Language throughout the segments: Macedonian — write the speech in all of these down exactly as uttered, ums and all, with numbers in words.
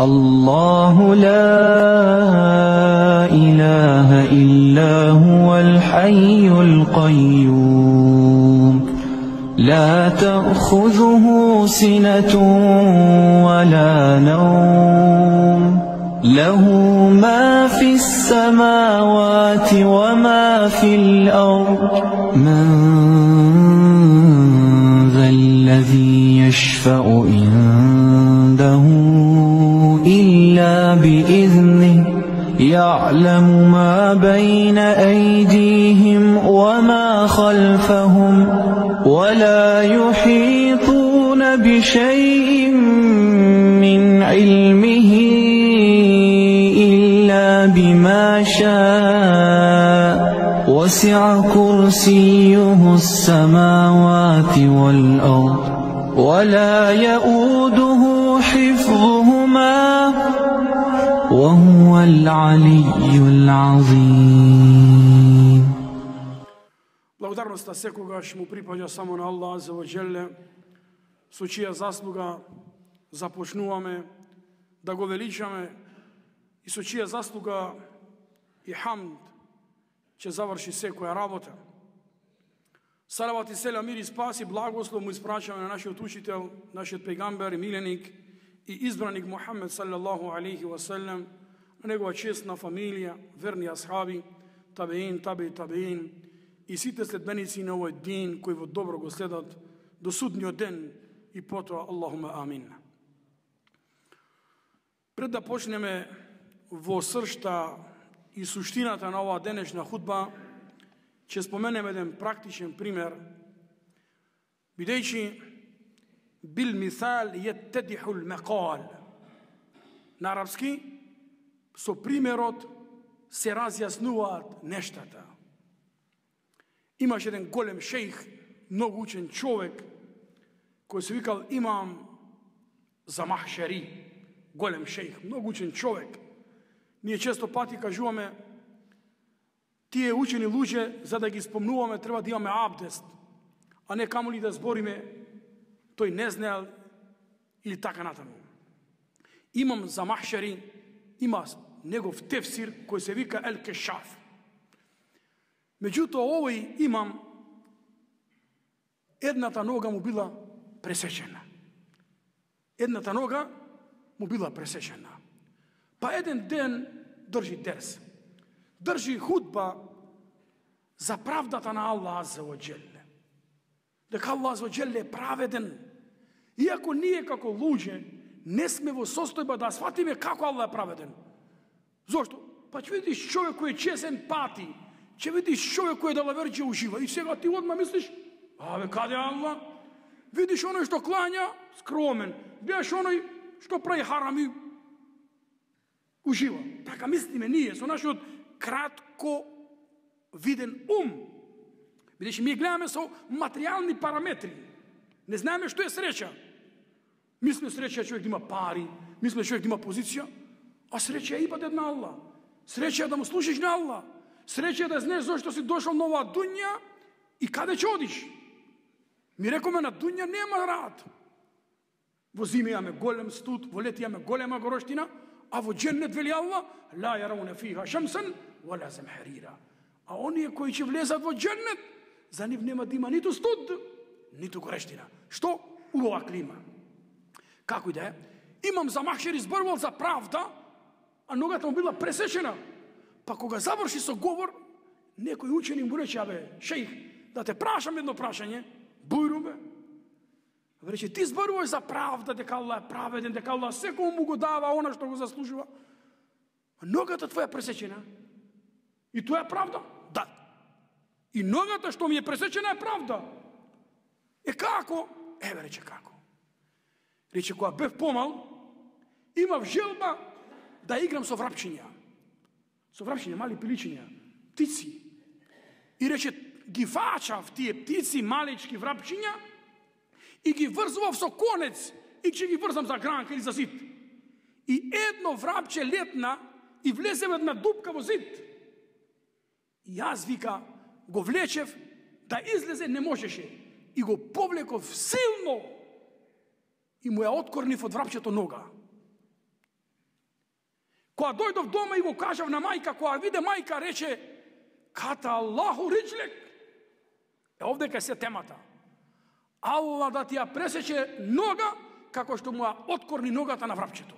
الله لا إله إلا هو الحي القيوم لا تأخذه سنة ولا نوم له ما في السماوات وما في الأرض من ذا الذي يشفع عنده إلا بإذنه يعلم ما بين أيديهم وما خلفهم ولا يحيطون بشيء من علمه إلا بما شاء وسع كرسيه السماوات والأرض ولا يؤوده حفظهما وهو العلي العظيم. Благодарноста секогаш му припаѓа само на Аллах азza wa jalla, со чија заслуга започнуваме да го величаме и со чија заслуга и хамд ќе заврши секоја работа. Салават и селам, мир и спас и благослов му испрашаме на нашиот учител, нашиот пегамбер и миленик и избраник Мухамед саллаллаху алейхи ва саллем, на негова честна фамилија, верни асхаби, табеин, таби, табеин и сите следбеници на овој дин кои во добро го следат до судниот ден и потоа Аллахума амин. Пред да почнеме во сршта и суштината на оваа денешна худба, ќе споменеме еден практичен пример, бидејќи бил мисал јеттедихул мекал. На арапски, со примерот се разјаснуваат нештата. Имаш еден голем шејх, многу учен човек, кој се викал имам Замахшери, голем шејх, многу учен човек. Ние често пати кажуваме, тие учени луѓе, за да ги спомнуваме, треба да имаме абдест, а не камоли да збориме, тој не знаел или така натаму. Имам Замахшери, има негов тефсир кој се вика Ел Кешаф. Меѓутоа, овој имам, едната нога му била пресечена. Едната нога му била пресечена. Па еден ден држи дерс. Држи худба за правдата на Аллах азza wa jalla. Дека Аллах азza wa jalla е праведен. Иако ние како луѓе не сме во состојба да сватиме како Аллах е праведен. Зошто? Па ќе видиш човек кој е чесен пати, ќе видиш човек кој е далаверџе ужива и сега ти одма мислиш, абе каде Аллах? Видиш оној што клања, скромен. Гледаш оној што прави харами, ужива. Така мислиме ние со нашиот кратко виден ум. Бидејќи ми гледаме со материјални параметри. Не знаеме што е среќа. Мислиме среќа човек да има пари, мислиме човек да има позиција, а среќа е ибадет на Аллах. Среќа е да му слушаш на Аллах. Среќа е да знаеш зошто си дошол на оваа дуња и каде ќе одиш. Ми рекоме на дуња нема рад. Во зиме имаме голем студ, во лети имаме голема гороштина, а во џеннет вели Аллах, ла јарауна фиха шамсан вала замхарира. А оние кои ќе влезат во џеннет, за нив нема да има ниту студ, ниту горештина. Што? Убава клима. Како и да е, имам Замахшери зборувал за правда, а ногата му била пресечена. Па кога заврши со говор, некој учени му рече, абе, шејх, да те прашам едно прашање, бујру бе. Рече, ти зборуваш за правда, дека Аллах е праведен, дека Аллах секој му го дава она што го заслужува. А ногата твоја е пресечена. И тоа е правда? Да. И ногата што ми е пресечена е правда. Е како? Еве, рече како. Рече, кога бев помал, имав желба да играм со врапчиња. Со врапчиња, мали пиличиња, птици. И рече, ги фачав тие птици, малечки врапчиња, и ги врзував со конец, и ќе ги врзам за гранка или за зид. И едно врапче летна и влезе во една дупка во зид. И јас, вика, го влечев, да излезе не можеше. И го повлеков силно и му ја откорнив од врапчето нога. Кога дојдов дома и го кажав на мајка, кога виде мајка, рече, ката Аллаху риджлек. Е, овде кај се темата. Аллах да ти ја пресече нога, како што му ја откорни ногата на врапчето.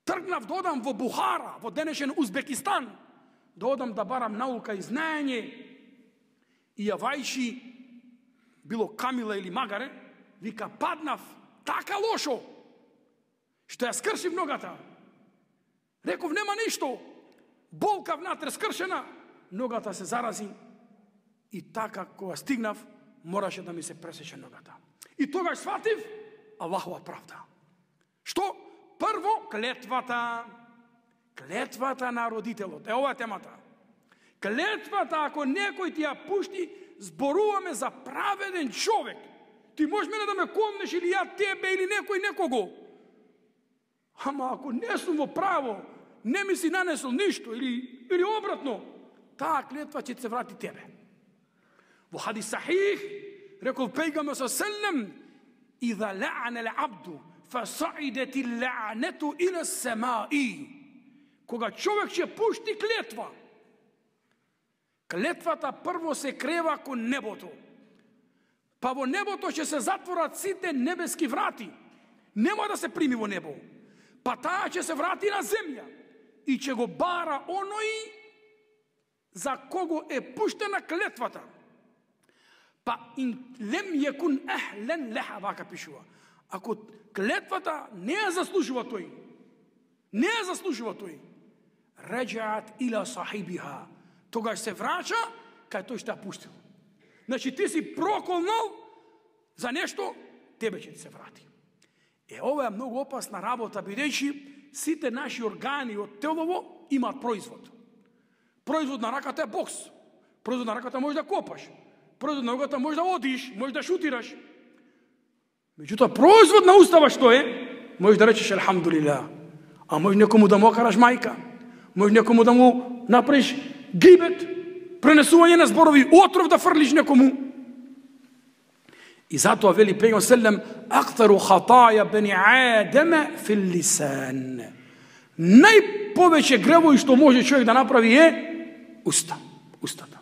Тргнав да одам во Бухара, во денешен Узбекистан, да одам да барам наука и знаење, и јавајши, било Камила или Магаре, вика, паднав така лошо, што ја скршив ногата. Реков, нема ништо. Болка внатре скршена, ногата се зарази и така кога стигнав, мораше да ми се пресече ногата. И тогаш сватив Аллахова правда. Што? Прво, клетвата. Клетвата на родителот. Е, ова е темата. Клетвата, ако некој ти ја пушти, зборуваме за праведен човек. Ти можеш мене да ме комнеш или ја тебе или некој некого. Ама ако не сум во право, не ми си нанесол ништо или, или обратно, таа клетва ќе се врати тебе. Во хадис сахих, рекол пејгамбер селем, ида ла'ана al-abdu фасаидет il-la'natu ila as-sama'i. Кога човек ќе пушти клетва, клетвата прво се крева кон небото. Па во небото ќе се затворат сите небески врати. Нема да се прими во небо. Па таа ќе се врати на земја и ќе го бара оној за кого е пуштена клетвата. Па ин лем јекун ахлен леха, вака пишува. Ако клетвата не ја заслужува тој, не ја заслужува тој, раджаат ила сахибиха, тогаш се врача кај тој што ја пуштил. Значи ти си проколнал за нешто, тебе ќе ти се врати. Е, ова е многу опасна работа, бидејќи сите наши органи од телово имаат производ. Производ на раката е бокс. Производ на раката може да копаш. Производ на ногата може да одиш, може да шутираш. Меѓутоа, производ на устава што е? Може да речеш елхамдулилlah. А може некому да му окараш мајка. Може некому да му направиш гибет, пренесување на зборови, отров да фрлиш некому. И затоа вели пејгамбер селем, актару хатаја бени Адема фил лисан. Најповеќе гревови што може човек да направи е уста, устата.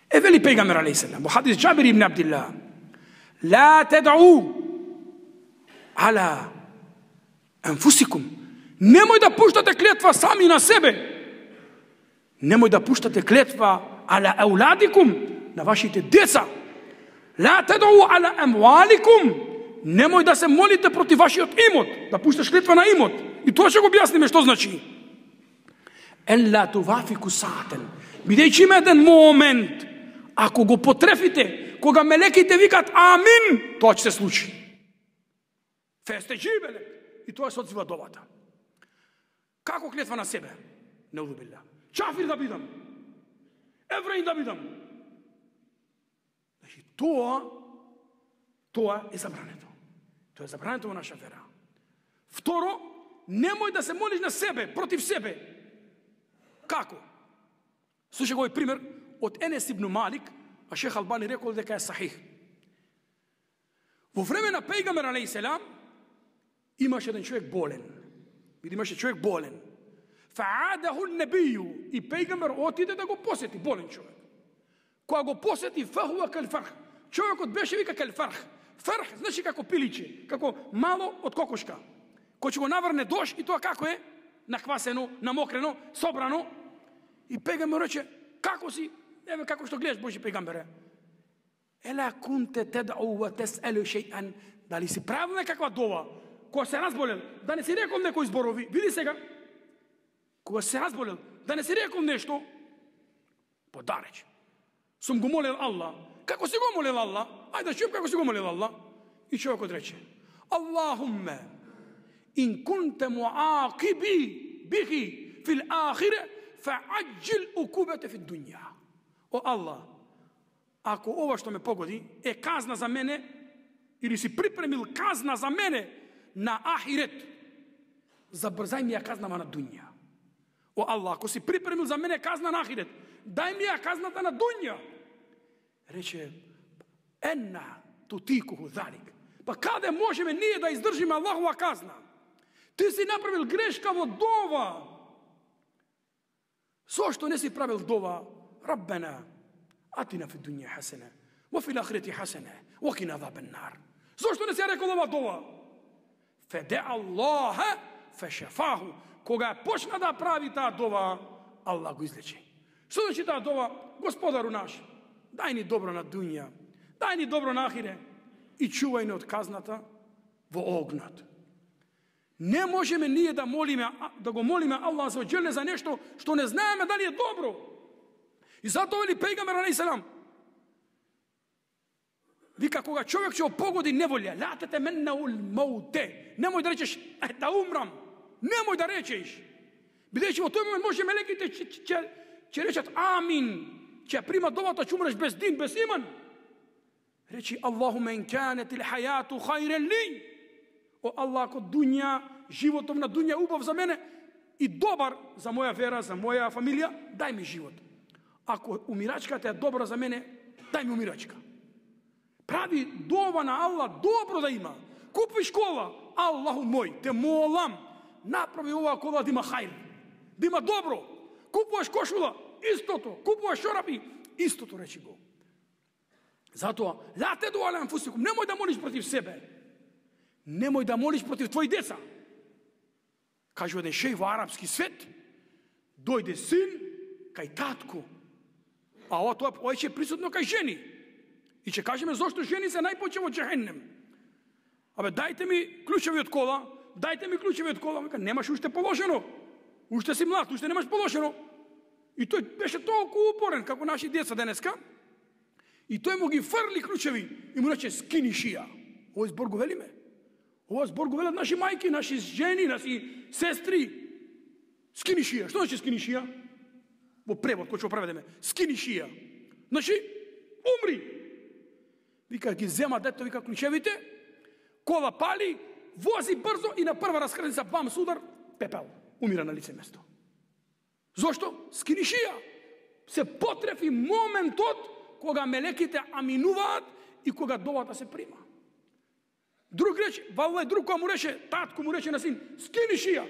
Е, вели пејгамбер алейхи селем, во хадис Џабир ибн Абдилlah, ла тед'у ала анфусикум. Немој да пуштате клетва сами на себе. Немој да пуштате клетва ала ауладикум, на вашите деца. Ла тед'у ала амваликум. Немој да се молите против вашиот имот, да пушташ клетва на имот. И тоа ќе го објасниме што значи. Елла тувафику саатен. Бидејќи има еден момент, ако го потрефите, кога мелеките викат амин, тоа ќе се случи. Фесте джибеле. И тоа се одзива довата. Како клетва на себе? Неудобилля. Чафир да бидам. Евреин да бидам. Значи, тоа, тоа е забрането. Тоа е забрането во наша вера. Второ, немој да се молиш на себе, против себе. Како? Слушај го овој пример од Енес ибн Малик, а Шех Албани рекол дека е сахих. Во време на пејгамбер алейхи селам имаше еден човек болен. Види, имаше човек болен. Фаадаху небију, и пејгамбер отиде да го посети, болен човек. Кога го посети, фахуа кал фарх. Човекот беше вика кал фарх. Фарх значи како пиличе, како мало од кокошка. Кој ќе го наврне дош и тоа како е? Нахвасено, намокрено, собрано. И пејгамбер рече, како си? Еве како што гледаш, Божи пејгамбере. Ела кунте тед'у ва тес'алу шејан. Дали си правил некаква дова? Кога се разболел, да не си рекол некој зборови. Види сега. Кога се разболел, да не си рекол нешто. Подареч. Сум го молел Аллах. Како си го молел Аллах? Ајде да чујам како си го молел Аллах. И човекот рече, Аллахумме, ин кунте муакиби бихи фил ахире, фа'аджил укубете фи дунја. О Аллах, ако ова што ме погоди е казна за мене, или си припремил казна за мене на ахирет, забрзај ми ја казнава на дунја. О Аллах, ако си припремил за мене казна на ахирет, дај ми ја казната на дунја. Рече, енна тутикуху залик. Па каде можеме ние да издржиме Аллахова казна? Ти си направил грешка во дова. Зошто не си правил дова? Раббена, атина фи дуња хасена, во фил ахирати хасена, во кина азабен нар. Зошто не си рекол ова дова? Феде Аллаха фешафаху. Кога почна да прави таа дова, Аллах го излечи. Што значи таа дова? Господару наш, дај ни добро на дуња, дај ни добро на ахире и чувај ни од казната во огнот. Не можеме ние да молиме, да го молиме Аллах за оџеле за нешто што не знаеме дали е добро. И затоа вели пејгамбер алейхи селам, вика, кога човек ќе опогоди неволја, ла татаманнау л-маут, немој да речеш да умрам, немој да речеш. Бидејќи во тој момент може мелеките ќе ќе речат амин, ќе примат довата, ќе умреш без дин, без иман. Речи Аллахуме ин канет ил хајату хајрен ли. О Аллах, ако дуња, животов на дуња убав за мене и добар за моја вера, за моја фамилија, дај ми живот. Ако умирачката е добра за мене, дај ми умирачка. Прави дова на Аллах добро да има. Купиш кола, Аллаху мој, те молам, направи ова кола да има хајр, да има добро. Купуваш кошула, истото. Купуваш чорапи, истото, речи го. Затоа, ла те дуалам фусикум, немој да молиш против себе. Немој да молиш против твои деца. Кажу еден шеј во арапски свет, дојде син кај татко. А ова тоа ова ќе присутно кај жени. И ќе кажеме зошто жени се најпоче во џехеннем. Абе, дајте ми клучеви од кола, дајте ми клучеви од кола. Вика, немаш уште положено. Уште си млад, уште немаш положено. И тој беше толку упорен, како наши деца денеска. И тој му ги фрли клучеви и му рече скини шија. Овој збор го велиме. Ова збор го велат наши мајки, наши жени, наши сестри. Скини шија. Што значи скини шија? Во превод, кој ќе го преведеме. Скини шија. Значи, умри. Вика, ги зема дето, вика, клучевите, кола пали, вози брзо и на прва раскрница, бам, судар, пепел. Умира на лице место. Зошто? Скини шија. Се потрефи моментот кога мелеките аминуваат и кога довата се прима. Друг рече, валлај, друг која му рече, татко му рече на син, скини шија.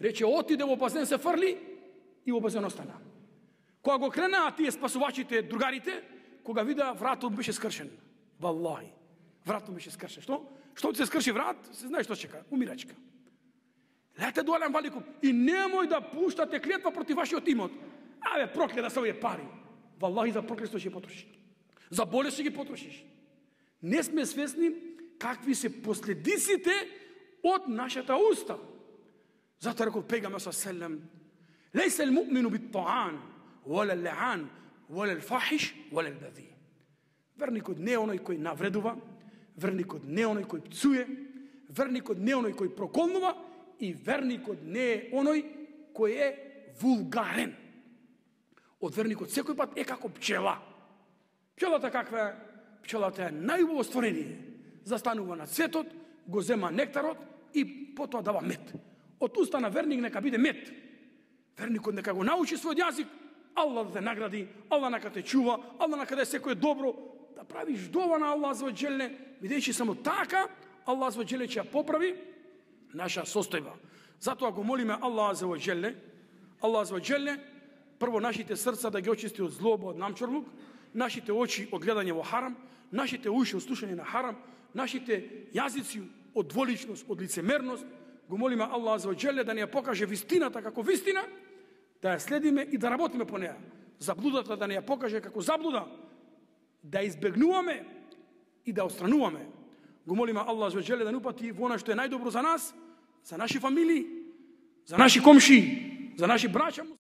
Рече, отиде во базен, се фрли и во базен остана. Кога го кренаа тие спасувачите, другарите, кога вида вратот беше скршен. Валлај, вратот беше скршен. Што? Што се скрши врат, се знае што чека, умирачка. Лете дуалем валикум и немој да пуштате клетва против вашиот имот. Абе, проклета се овие пари. Валлај, за проклетство ќе потрошиш. За болест ќе ги потрошиш. Не сме свесни какви се последиците од нашата уста. Затоа рекол пејгамбер селем, лейса л-муъмину бит-таан, вала л-лаан, вала л-фахиш, вала л-бази. Верникот не е оној кој навредува, верникот не е оној кој пцуе, верникот не е оној кој проколнува и верникот не е оној кој е вулгарен. Од верникот секој пат е како пчела. Пчелата каква е? Пчелата е најубаво створение. Застанува на цветот, го зема нектарот и потоа дава мед. Од уста на верник нека биде мед. Верникот нека го научи својот јазик, Аллах да те награди, Аллах нека те чува, Аллах нека да секој е добро, да правиш дова на Аллах за оџеле, бидејќи само така Аллах за оџеле ќе ја поправи наша состојба. Затоа го молиме Аллах за оџеле, Аллах за оџеле, прво нашите срца да ги очисти од злоба, од намчорлук, нашите очи од гледање во харам, нашите уши од слушање на харам, нашите јазици од дволичност, од лицемерност. Го молиме Аллах за оџеле да ни ја покаже вистината како вистина, да ја следиме и да работиме по неја. Заблудата да ни ја покаже како заблуда, да избегнуваме и да отстрануваме. Го молиме Аллах за оџеле да ни упати во она што е најдобро за нас, за наши фамилии, за наши комши, за наши браќа.